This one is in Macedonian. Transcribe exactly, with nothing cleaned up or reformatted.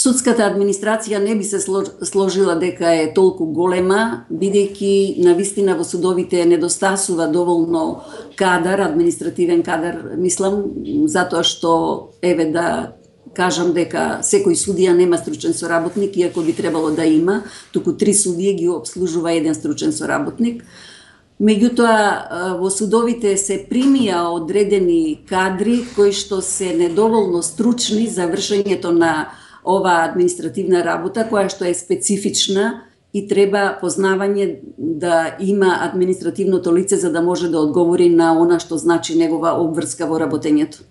Судската администрација не би се сложила дека е толку голема, бидејќи навистина во судовите недостасува доволно кадар, административен кадар, мислам, затоа што, еве да кажам дека секој судија нема стручен соработник, иако би требало да има, туку три судија ги обслужува еден стручен соработник. Меѓутоа, во судовите се примија одредени кадри кои што се недоволно стручни за вршењето на оваа административна работа, која што е специфична и треба познавање да има административното лице за да може да одговори на она што значи негова обврска во работењето.